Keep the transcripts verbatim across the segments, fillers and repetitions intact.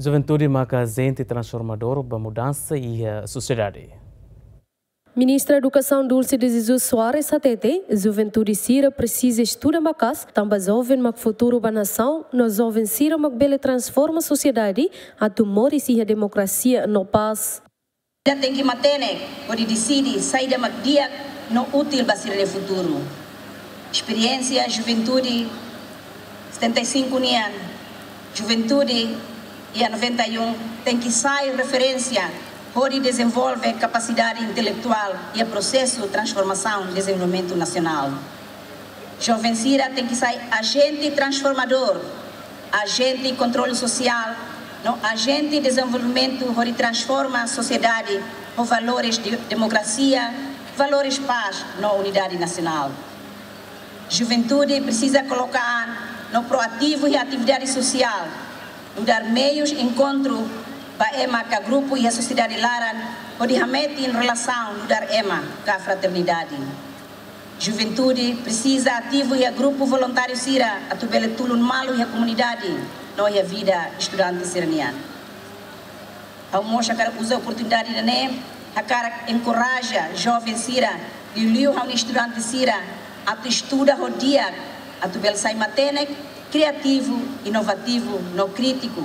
Juventude maka ajente transformadór ba mudansa iha sosiedade. Ministra Edukasaun Dulce de Jesus Soares hatete, juventude sira presiza estuda maka'as, tanba joven mak futuru ba nasaun, no joven sira mak bele transforma sosiedade atu moris iha demokrasia no pás. Ita tenke matenek hodi deside saida mak di'ak no útil ba sira-nia futuru. Esperiénsia juventude setenta e cinco nian, juventude iha noventa e um tenke sai referénsia hodi dezenvolve kapasidade intelektuál iha prosesu transformasaun dezenvolvimentu nasionál. Joven sira tenke sai ajente transformadór, ajente kontrolu sosiál, no ajente dezenvolvimentu hodi transforma sosiedade ho valores de demokrasia, valores pás no unidade nasionál. Juventude presiza koloka an no proativu iha atividade sosiál, nu'udar meius enkontru ba ema ka grupu iha sosiedade laran, hodi hametin relasaun nu'udar ema ka fraternidade. Juventude presiza ativu iha grupu voluntáriu sira atu bele tulun malu iha komunidade no iha vida estudante sira-nian. Ha'u mós hakarak uza oportunidade ida-ne'e hakarak enkoraja joven sira, liuliu ha'u-nia estudante sira, atu estuda ho di'ak, atu bele sai matenek, kriativu, inovativu no krítiku.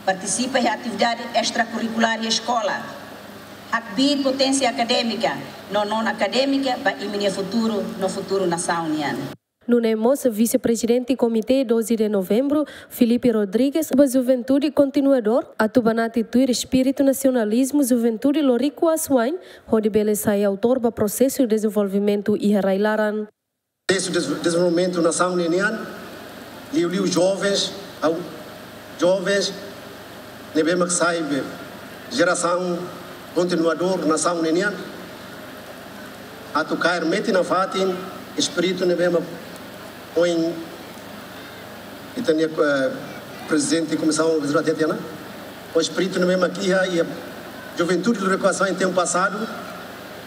Partisipa iha atividade estrakurrikulár iha eskola. Hakbiit poténsia akadémika no non-akadémika ba imi-nia futuru no futuru nasaun nian. Nune'e mós Vise-Prezidente Komité doze de Novembro, Filipe Rodrigues, ba juventude kontinuadór, atu banati tuir espíritu nasionalizmu juventude loriku asuwa'in, hodi bele sai autór ba prosesu dezenvolvimentu iha rai-laran. Prosesu de dezenvolvimentu nasaun nian, liuliu jovens, au, jovens ne'ebé mak sai be jerasaun kontinuadór nasaun nian, atu kaer metin nafatin espíritu ne'ebé mak ohin ita-nia, eh, prezidente komisaun realizadora hatete ona, ho espíritu ne'ebé mak iha, iha juventude loriku asuwa'in tempu pasadu,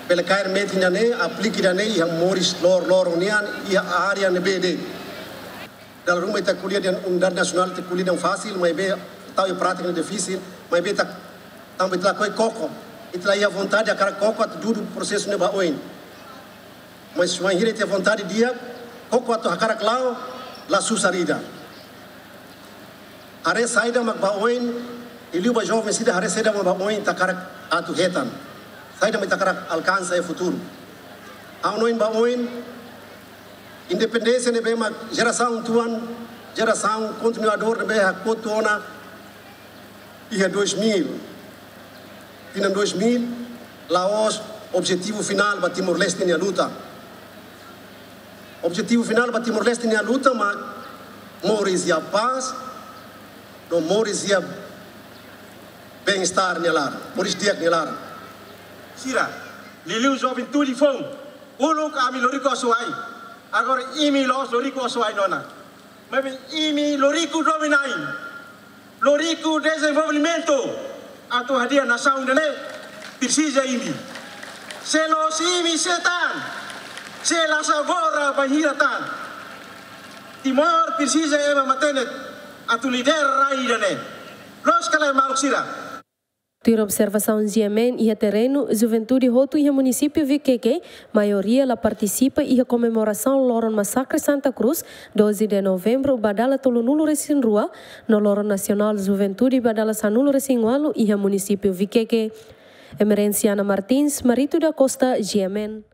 bele kaer metin ida-ne'e, aplika ida-ne'e iha moris lor-, loron nian, iha área ne'ebé de'it. Dala ruma ita ko'alia dehan unidade nasionál, ita ko'alia dehan fasil, maibé tau iha prátika ne'e difisil, maibé ita, tanba ita lakohi koko, ita la iha vontade hakarak koko atu dudu prosesu ne'e ba oin. Mas wainhira ita iha vontade di'ak, koko atu hakarak la'o, la susar ida. Haree saida mak ba oin, liuliu ba joven sira haree saida mak ba oin ita hakarak atu hetan. Saida mak ita hakarak alkansa iha futuru. Ha'u hanoin ba oin, independénsia ne'ebé mak jerasaun tuan, jerasaun kontinuadór ne'ebé hakotu ona iha dois mil. Tinan dois mil, la'ós objetivu finál ba Timor-Leste nia luta. Objetivu finál ba Timor-Leste nia luta mak moris iha pás, no moris iha bem-estar nia laran, moris di'ak nia laran. Sira, liuliu juventude foun, uluk ami loriku asuwa'in, agora imi la'ós loriku asuwa'in ona. Maibé imi loriku dominain, loriku dezenvolvimentu, atu hadi'a nasaun ida-ne'e presiza imi. Se la'ós imi sé tan, se la sabora bainhira tan. Timor presiza ema matenek atu lidera rai ida-ne'e. Loos ka lae maluk sira? Tuir observasaun G M N iha terrenu, juventude hotu iha munisípiu Viqueque, maioria la partisipa iha komemorasaun loron masakre Santa Cruz, doze de Novembro, ba dala tolunulu-resin-rua, no loron nasionál juventude ba dala sanulu-resin-ualu iha munisípiu Viqueque. Emerenciana Martins, Marito da Costa, G M N.